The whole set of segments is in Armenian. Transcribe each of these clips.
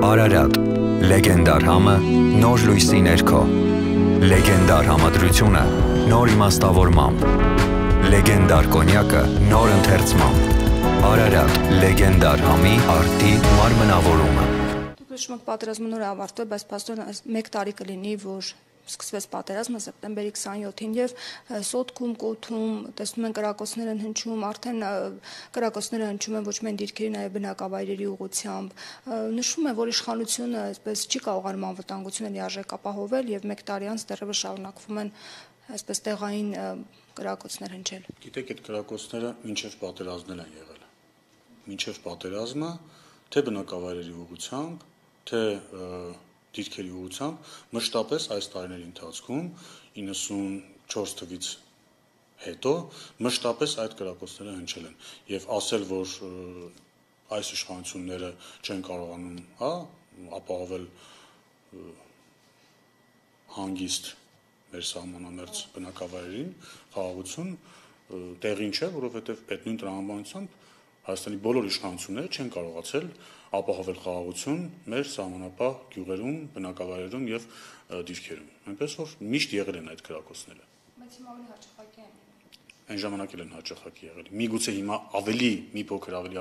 Արարատ, լեգենդար համը, նոր լույսի ներքո, լեգենդար համադրությունը, նոր իմաստավորմամբ, լեգենդար կոնյակը, նոր ընթերցմամբ, Արարատ, լեգենդար համի արտի մարմնավորումը։ Դուք հիշում եք պատերազմը նոր ավարտվել, բայց փաստորեն 1 տարի կլինի, որ սկսվեց պատերազմը սեպտեմբերի 27-ին եւ Սոտքում, Կոթում տեսնում են կրակոցներ են հնչում, արդեն կրակոցները հնչում են ոչ միայն դիրքերի, նաեւ բնակավայրերի ուղղությամբ։ Նշվում է, որ իշխանությունը այսպես չի կարողանում անվտանգությունը լիարժեք ապահովել եւ 1 տարի անց դեռևս շարունակվում են այսպես տեղային կրակոցներ հնչել։ Գիտեք, այդ կրակոցները մինչեւ պատերազմն են եղել։ Մինչեւ պատերազմը թե բնակավայրերի ուղղությամբ, թե դիրքերի ուղղությամբ մշտապես այս տարիների ընթացքում 94 թվականից հետո մշտապես այդ կրակոցները հնչել են եւ ասել, որ այս իշխանությունները չեն կարողանում ապահովել հանգիստ մեր սահմանամերձ բնակավայրերին, խաղաղություն տեղին չէ, որովհետեւ այդ նույն տրամաբանությամբ Հայաստանի բոլոր իշխանությունները չեն կարողացել ապահովել խաղաղություն մեր սահմանապահ գյուղերում, բնակավայրերում եւ դիրքերում։ Այնպես որ միշտ եղել են այդ կրակոցները։ Բայց հիմա ավելի հաճախակի են։ Այն ժամանակ էլ են հաճախակի եղել։ Միգուցե հիմա ավելի մի փոքր ավելի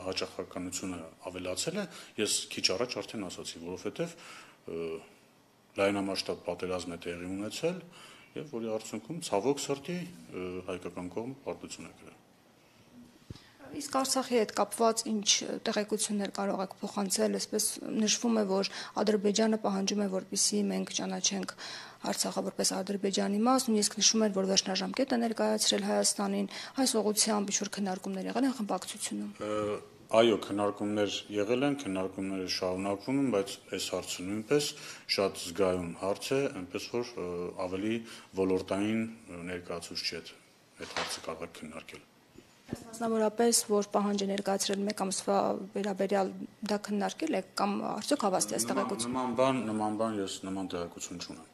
հաճախականությունը ավելացել է, ես քիչ առաջ արդեն ասացի, որովհետեւ լայնամասշտաբ պատերազմ է տեղի ունեցել եւ որի արդյունքում ցավոք սրտի հայկական կողմը պարտություն է կրել։ Իսկ Արցախի հետ կապված ինչ տեղեկություններ կարող եք փոխանցել, այսպես նշվում է, որ Ադրբեջանը պահանջում է, որպեսզի մենք ճանաչենք Արցախը որպես Ադրբեջանի մաս, նույնիսկ նշվում է, որ վերջնաժամկետ է ներկայացրել Հայաստանին, այս ուղղությամբ ինչ-որ քննարկումներ եղել են խմբակցությունում։ Այո, քննարկումներ եղել են, քննարկումները շարունակվում են, բայց այս հարցը նույնպես շատ զգայուն հարց է, այնպես որ ավելի ոլորտային ներկայացուցիչ չէ այդ հարցը կարող է քննարկել։ Մասնավորապես, որ պահանջ է ներկայացրել 1 ամսվա վերաբերյալ դա քննարկել եք կամ արդյոք հավաստի այս տեղեկություն։ Նման բան ես նման տեղեկություն չունեմ։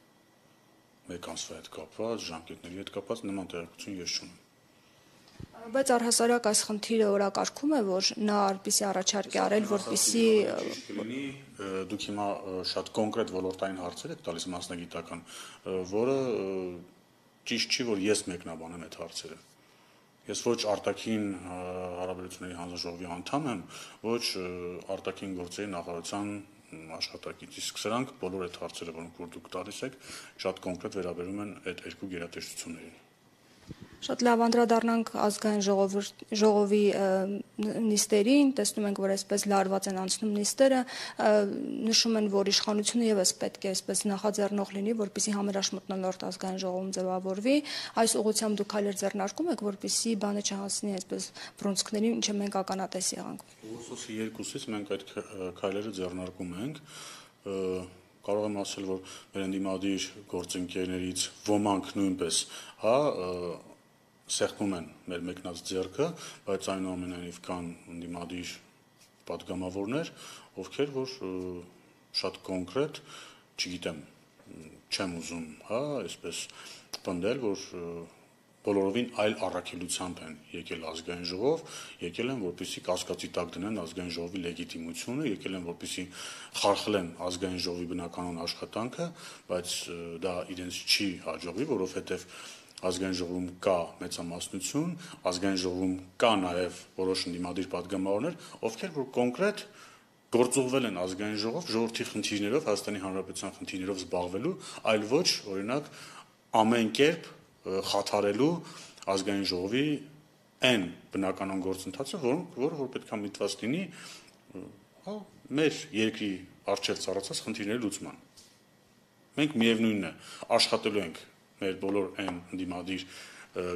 1 ամսվա հետ կապված, ժամկետների հետ կապված նման տեղեկություն ես չունեմ։ Բայց առհասարակ այս խնդիրը օրակարգում է, որ նա այդպիսի առաջարկ է արել, որպեսզի դուք հիմա շատ կոնկրետ ոլորտային հարցեր եք տալիս մասնագիտական, որը ճիշտ չի, որ ես մեկնաբանեմ այդ հարցերը։ Ես ոչ արտաքին հարաբերությունների հանձնաժողովի անդամ եմ, ոչ արտաքին գործերի նախարարության աշխատակից, իսկ սրանք բոլոր այդ հարցերը, որոնք որ դուք տալիս եք, շատ կոնկրետ վերաբերում են այդ երկու գերատեսչություններին։ Շատ լավ անդրադառնանք ազգային ժողովի նիստերին, տեսնում ենք, որ այսպես լարված են անցնում նիստերը, նշում են, որ իշխանությունը եւս պետք է այսպես նախաձեռնող լինի, որպեսզի համերաշխ մթնոլորտ ազգային ժողովում ձևավորվի, այս ուղղությամբ դուք քայլեր ձեռնարկում եք, որպեսզի բանը չհասնի այսպես բռունցքներին, ինչը մենք ականատես եղանք։ Ուսուցի երկուսից մենք այդ քայլերը ձեռնարկում ենք, կարող եմ ասել, որ մեր ընդդիմադիր գործընկերներից ոմանք նույնպես, սեղմում են մեր մեկնած ձեռքը, բայց այնուամենայնիվ կան ընդդիմադիր պատգամավորներ, ովքեր որ շատ կոնկրետ, չգիտեմ, չեմ ուզում, այսպես պնդել, որ բոլորովին այլ առաքելությամբ են եկել ազգային ժողով, եկել են, որպեսզի կասկածի տակ դնեն ազգային ժողովի լեգիտիմությունը, եկել են, որպեսզի խարխլեն ազգային ժողովի բնականon աշխատանքը, բայց դա իրենց չի հաջողվի, որովհետև ազգային ժողովում կա մեծամասնություն, ազգային ժողովում կա նաև որոշ ընդդիմադիր պատգամավորներ, ովքեր որ կոնկրետ գործուղվել են ազգային ժողով ժողովրդի խնդիրներով, Հայաստանի Հանրապետության խնդիրներով զբաղվելու, այլ ոչ, օրինակ, ամեն կերպ խաթարելու ազգային ժողովի այն բնականon գործընթացը, որը պետք է միտված լինի մեր երկրի առջև ծառացած խնդիրների լուծման։ Մենք միևնույնն է, աշխատելու ենք մեր բոլոր այն ընդդիմադիր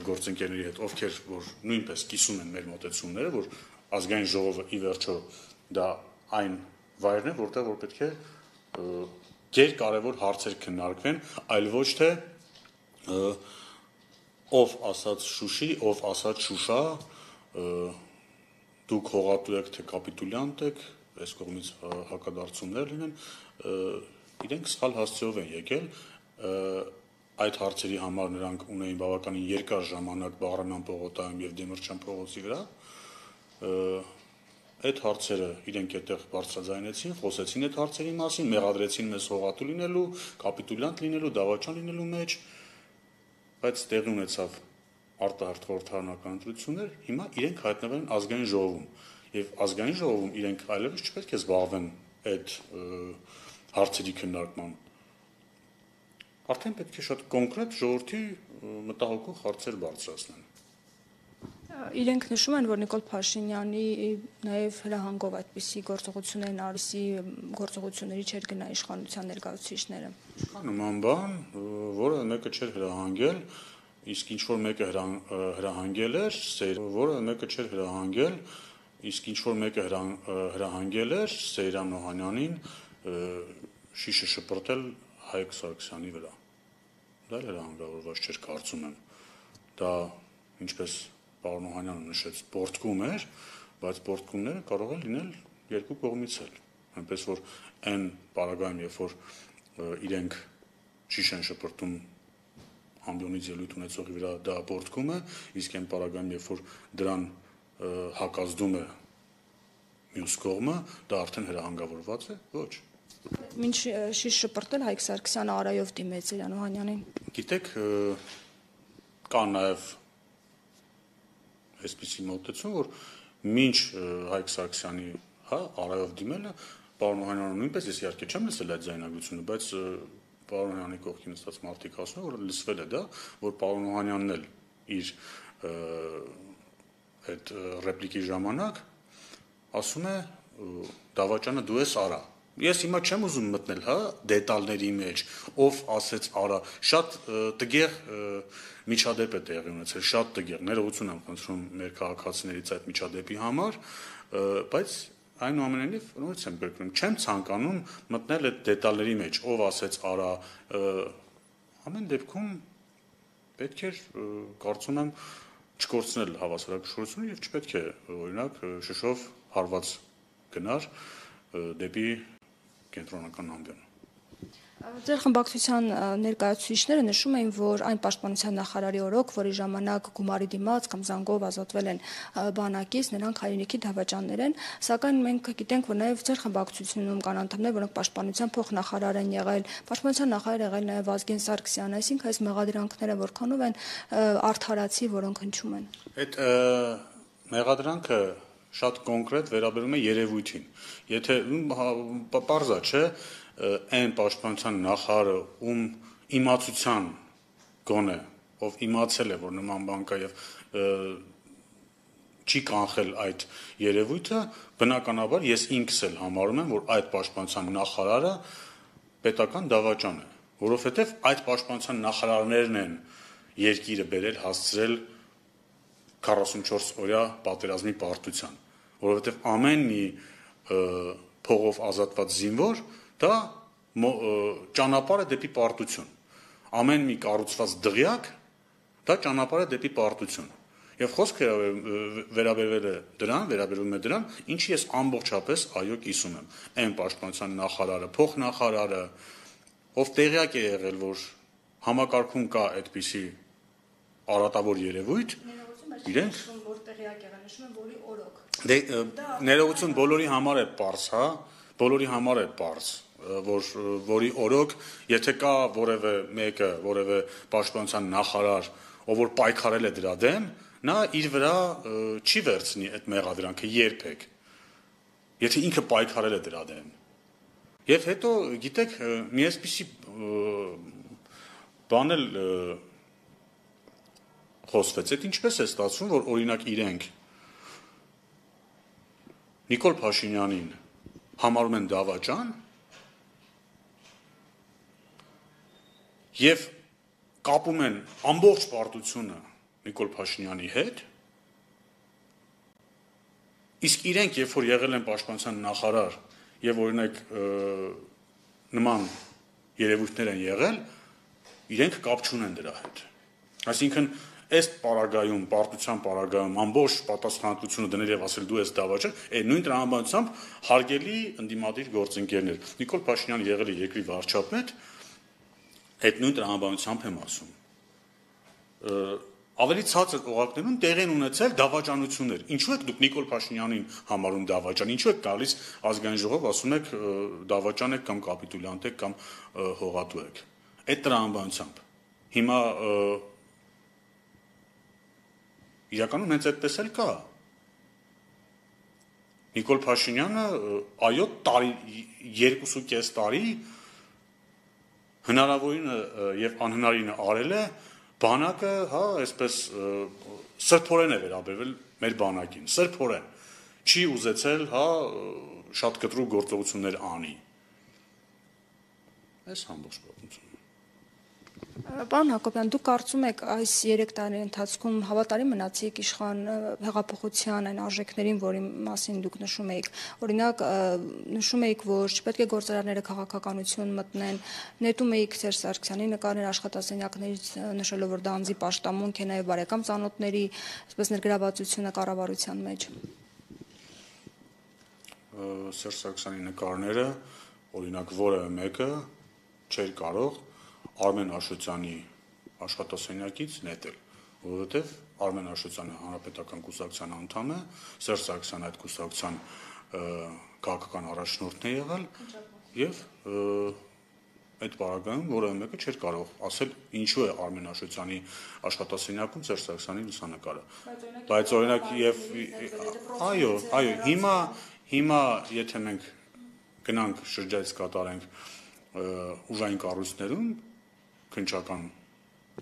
գործընկերների հետ, ովքեր որ նույնպես կիսում են մեր մոտեցումները, որ ազգային ժողովը ի վերջո դա այն վայրն է, որտեղ որ պետք է գերկարևոր հարցեր քննարկվեն, այլ ոչ թե ով ասաց Շուշի, ով ասաց Շուշա, դուք հողատու եք, թե կապիտուլյանտ եք, այս կողմից հակադարձումներ լինեն, իրենք սխալ հասցեով են եկել, այդ հարցերի համար նրանք ունեին բավականին երկար ժամանակ Բաղրամյան պողոտայում եւ Դեմիրճյան փողոցի վրա, այդ հարցերը իրենք այդտեղ բարձրաձայնեցին, խոսեցին այդ հարցերի մասին, մեղադրեցին մեզ հողատու լինելու, կապիտուլյանտ լինելու, դավաճան լինելու մեջ, բայց տեղի ունեցավ արտահերթ խորհրդարանական ընտրություններ, հիմա իրենք հայտնվել են ազգային ժողովում, եւ ազգային ժողովում իրենք այլևս չպետք է զբաղվեն այդ հարցերի քննարկմամբ։ Արդեն պետք է շատ կոնկրետ ժողովրդի մտահոգող հարցեր բարձրացնեն։ Իրենք նշում են, որ Նիկոլ Փաշինյանի նաև հրահանգով այդպիսի գործողություններն արսի գործողությունների չէր գնա իշխանության ներկայացուցիչները։ Չկա նման բան, որը մեկը չէր հրահանգել, իսկ ինչ որ մեկը հրահանգել էր, որը մեկը չէր հրահանգել, իսկ ինչ որ մեկը հրահանգել էր Սեյրան Օհանյանին շիշը շպրտել Հայկ Սարգսյանի վրա։ Դա էլ հրահանգավորված չէր, կարծում եմ։ Դա ինչպես պարոն Օհանյանը նշեց, պորտկում էր, բայց պորտկումները կարող են լինել երկու կողմից էլ։ Այնպես որ այն պարագայում, երբ որ իրենք շիշ են շպրտում ամբիոնից ելույթ ունեցողի վրա, դա պորտկում է, իսկ այն պարագայում, երբ որ դրան հակազդում է մյուս կողմը, դա արդեն հրահանգավորված է, ոչ։ Մինչ շիշ շպրտել Հայկ Սարգսյանը արայով դիմեց Սեյրան Օհանյանին։ Գիտեք, կա նաև այսպիսի մոտեցում, որ մինչ Հայկ Սարգսյանի, արայով դիմելը, պարոն Օհանյանը նույնպես ես իհարկե չեմ լսել այդ ձայնագրությունը, բայց պարոն Օհանյանի կողքին նստած մարդիկ ասում են, որ լսվել է դա, որ պարոն Օհանյանն էլ իր այդ ռեպլիկի ժամանակ ասում է դավաճանը դու ես արա։ Ես հիմա չեմ ուզում մտնել, դետալների մեջ, ով ասեց արա, շատ տգեղ միջադեպ է տեղի ունեցել, շատ տգեղ, ներողություն եմ խնդրում մեր քաղաքացիներից այդ միջադեպի համար, բայց այնուամենայնիվ նորից եմ գրկնում, չեմ ցանկանում մտնել այդ դետալների մեջ, ով ասեց արա, ամեն դեպքում պետք է կարծում եմ չկորցնել հավասարակշռությունը եւ չպետք է օրինակ շշով հարված գնար դեպի կենտրոնական ամբիոն։ Ձեր խմբակցության ներկայացուցիչները նշում էին, որ այն պաշտպանության նախարարի օրոք, որի ժամանակ գումարի դիմաց կամ զանգով ազատվել են բանակից, նրանք հայրենիքի դավաճաններ են, սակայն մենք գիտենք, որ նաև ձեր խմբակցությունում կան անդամներ, որոնք պաշտպանության փոխնախարար են եղել, պաշտպանության նախարար եղել նաև Ազգեն Սարգսյանը, այսինքն այս մեղադրանքները որքանով են արդարացի, որոնք հնչում են։ Այդ մեղադրանքը շատ կոնկրետ վերաբերում է երևույթին։ Եթե պարզա չէ, այն պաշտպանության նախարարը, ում իմացության գոնե, ով իմացել է, որ նման բան կա եւ չի կանխել այդ երևույթը, բնականաբար ես ինքս էլ համարում եմ, որ այդ պաշտպանության նախարարը պետական դավաճան է, որովհետեւ այդ պաշտպանության նախարարներն են երկիրը բերել հասցրել 44 օրյա պատերազմի պարտության, որովհետեւ ամեն մի փողով ազատված զինվոր դա ճանապարհ է դեպի պարտություն, ամեն մի կառուցված դղյակ դա ճանապարհ է դեպի պարտություն, եւ խոսքը վերաբերվում է դրան, ինչի ես ամբողջապես այո կիսում եմ, այն պաշտպանության նախարարը, փոխնախարարը, ով տեղյակ է եղել, որ համակարգում կա այդպիսի արատավոր երևույթ, իրենք որ տեղյակ եղան, նշում են, որի օրոք։ Ներողություն բոլորի համար է պարզ, բոլորի համար է պարզ, որի օրոք, եթե կա որևէ մեկը, որևէ պաշտպանության նախարար, ով որ պայքարել է դրա դեմ, նա իր վրա չի վերցնի այդ մեղադրանքը երբեք, եթե ինքը պայքարել է դրա դեմ։ Եվ հետո, գիտեք, մի այսպիսի բան էլ խոսվեց, այդ ինչպես է ստացվում, որ օրինակ իրենք Նիկոլ Փաշինյանին համարում են դավաճան եւ կապում են ամբողջ պարտությունը Նիկոլ Փաշինյանի հետ, իսկ իրենք, երբ որ եղել են պաշտպանության նախարար եւ օրինակ նման երևույթներ են եղել, իրենք կապ չունեն դրա հետ։ Այսինքն այս պարագայում, պարտության պարագայում ամբողջ պատասխանատվությունը դնել եւ ասել դու ես դավաճան, այդ նույն տրամաբանությամբ հարգելի ընդդիմադիր գործընկերներ։ Նիկոլ Փաշինյանը եղել է երկրի վարչապետ, այդ նույն տրամաբանությամբ եմ ասում։ ավելի ցածր օղակներում տեղ են ունեցել դավաճանություններ։ Ինչու եք դուք Նիկոլ Փաշինյանին համարում դավաճան, ինչու եք գալիս ազգային ժողով ասում եք դավաճան եք կամ կապիտուլյանտ եք կամ հողատու եք։ Այդ տրամաբանությամբ հիմա իրականում հենց այդպես էլ կա։ Նիկոլ Փաշինյանը այո 2.5 տարի հնարավորինը եւ անհնարինը արել է, բանակը, հա, այսպես սրբորեն է վերաբերվել մեր բանակին, սրբորեն չի ուզեցել, հա, շատ կտրուկ գործողություններ անի։ Այս ամբողջ պատմությունը։ Պարոն Հակոբյան, դուք կարծում եք այս 3 տարի ընթացքում հավատարիմ մնացիք իշխան հեղափոխության այն արժեքներին, որի մասին դուք նշում եք։ Օրինակ, նշում եք, որ չպետք է գործարանները քաղաքականություն մտնեն, նետում եք Սերժ Սարգսյանի նկարներ աշխատասենյակներից, նշելով, որ դա անձի պաշտամունք է, նաև բարեկամ ծանոթների, այսպես ներգրավվածությունը կառավարության մեջ։ Սերժ Սարգսյանի նկարները, օրինակ, որևէ մեկը չէր կարող Արմեն Աշոտյանի աշխատասենյակից նետել, որովհետև Արմեն Աշոտյանը հանրապետական կուսակցության անդամ է, Սերժ Սարգսյանը այդ կուսակցության քաղաքական առաջնորդն է եղել եւ այդ պարագայում որևէ մեկը չէր կարող ասել ինչու է Արմեն Աշոտյանի աշխատասենյակում Սերժ Սարգսյանի լուսանկարը։ Բայց օրինակ եւ այո, հիմա եթե մենք գնանք շրջայց կատարենք ուժային կառույցներում քննչական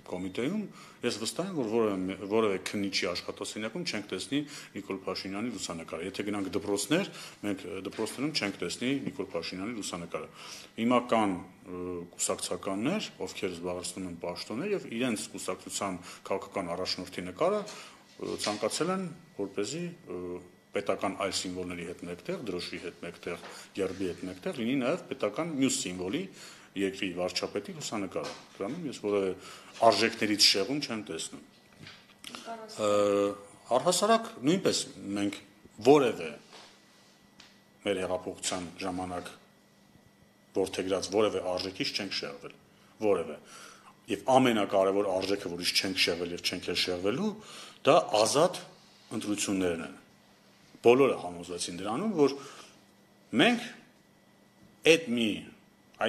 կոմիտեում, ես վստահ եմ, որ որևէ քննիչի աշխատասենյակում չենք տեսնի Նիկոլ Փաշինյանի լուսանկարը։ Եթե գնանք դպրոցներ, մենք դպրոցներում չենք տեսնի Նիկոլ Փաշինյանի լուսանկարը։ Հիմա կան կուսակցականներ, ովքեր զբաղեցնում են պաշտոններ եւ իրենց կուսակցության քաղաքական առաջնորդի նկարը ցանկացել են, որպեսզի պետական այլ սիմվոլների հետ մեկտեղ, դրոշի հետ մեկտեղ, գերբի հետ մեկտեղ լինի նաեւ պետական մյուս սիմվոլի երկրի վարչապետի լուսանկարը։ Դրանում ես որևէ արժեքներից շեղում չեմ տեսնում։ Առհասարակ նույնպես մենք որևէ մեր հեղափոխության ժամանակ որդեգրած որևէ արժեքից չենք շեղվել, որևէ։ Եվ ամենակարևոր արժեքը, որից չենք շեղվել եւ չենք էլ շեղվելու, դա ազատ ընտրություններն են։ Բոլորը համոզվեցին դրանում, որ մենք այդ մի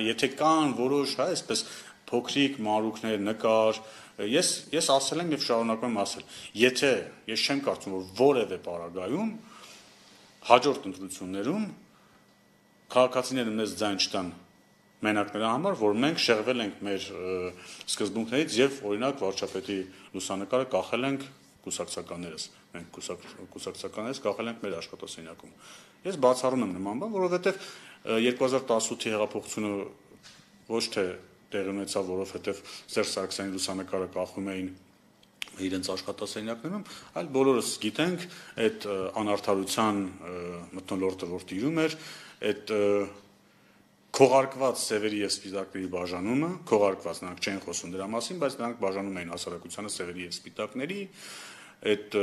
եթե կան որոշ, հա, այսպես փոքրիկ մանրուքներ, նկար, ես ասել եմ եւ շարունակում եմ ասել, եթե ես չեմ կարծում, որ որևէ պարագայում հաջորդ ընտրություններում քաղաքացիները մեզ ձայն չտան մենակ նրա համար, որ մենք շեղվել ենք մեր սկզբունքներից եւ օրինակ վարչապետի լուսանկարը կախել ենք կուսակցականներս, մենք կուսակցականներս կախել ենք մեր աշխատասենյակում։ Ես բացառում եմ նման բան, որովհետեւ 2018-ի հեղափոխությունը ոչ թե տեղի ունեցավ, որովհետև Սերժ Սարգսյանի լուսանկարը կախում էին իրենց աշխատասենյակներում, այլ բոլորս գիտենք այդ անարդարության մթնոլորտը, որ տիրում էր, այդ քողարկված սևերի եւ սպիտակների բաժանումը, քողարկված նրանք չեն խոսում դրա մասին, բայց նրանք բաժանում էին հասարակությանը սևերի եւ սպիտակների, այդ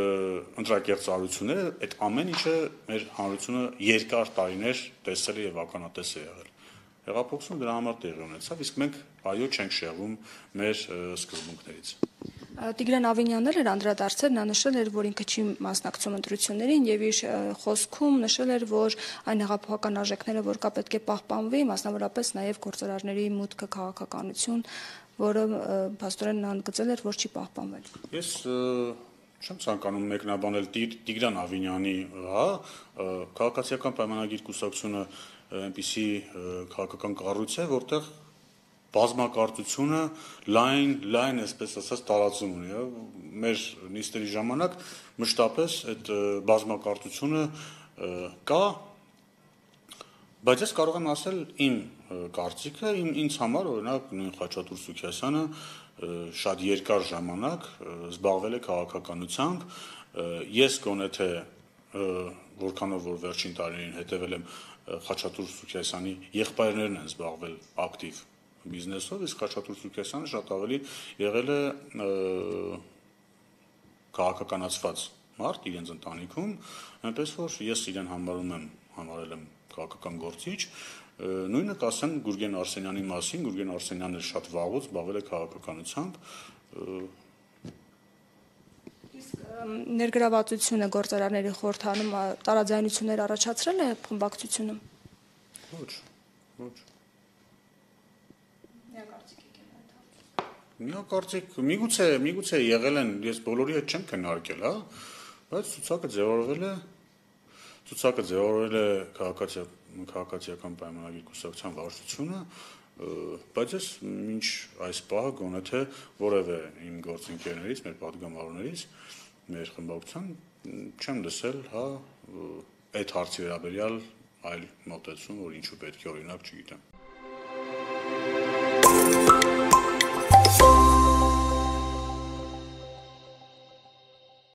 ընտրակերծարությունները, այդ ամեն ինչը մեր հանրությունը երկար տարիներ տեսել է եւ ականատես է եղել։ Հեղափոխությունը դրա համար տեղի ունեցավ, իսկ մենք այո չենք շեղվում մեր սկզբունքներից։ Տիգրան Ավինյանն էր անդրադարձել, նա նշել էր, որ ինքը չի մասնակցում ընտրություններին եւ իր խոսքում նշել էր, որ այն հեղափոխական արժեքները, որ կա պետք է պահպանվի, մասնավորապես նաեւ գործարարների մուտքը քաղաքականություն, որը փաստորեն նա ընդգծել էր, որ չի պահպանվել։ Ես չեմ ցանկանում մեկնաբանել Տիգրան Ավինյանի, հա, քաղաքացիական պայմանագիր կուսակցությունը այնպիսի քաղաքական կառույց է, որտեղ բազմակարծությունը լայն, այսպես ասած, տարածում ունի, հա, մեր նիստերի ժամանակ մշտապես այդ բազմակարծությունը կա, բայց ես կարող եմ ասել իմ կարծիքը, ինձ համար, օրինակ, նույն Խաչատուր Սուքիասյանը շատ երկար ժամանակ զբաղվել է քաղաքականությամբ, ես գոնե թե որքանով որ վերջին տարիներին հետևել եմ Խաչատուր Սուքիասյանի եղբայրներն են զբաղվել ակտիվ բիզնեսով, իսկ Խաչատուր Սուքիասյանը շատ ավելի եղել է քաղաքականացված մարդ իրենց ընտանիքում, այնպես որ ես իրեն համարել եմ քաղաքական գործիչ, նույնը կասեմ Գուրգեն Արսենյանի մասին, Գուրգեն Արսենյանը շատ վաղուց զբաղվել է քաղաքականությամբ, Ներգրավվածությունը գործարանների խորհրդանում տարաձայնություններ առաջացրել է խմբակցությունում։ Ոչ։ Միակարծիք, միգուցե եղել են, ես բոլորի հետ չեմ քննարկել, հա, բայց ցուցակը ձևավորել է քաղաքացիական պայմանագիր կուսակցության վարչությունը, բայց ես մինչ այս պահը գոնե թե որևէ իմ գործընկերներից, մեր պատգամավորներից, մեր խմբակցության չեմ լսել, հա, այդ հարցի վերաբերյալ այլ մոտեցում, որ ինչու պետք է օրինակ, չգիտեմ։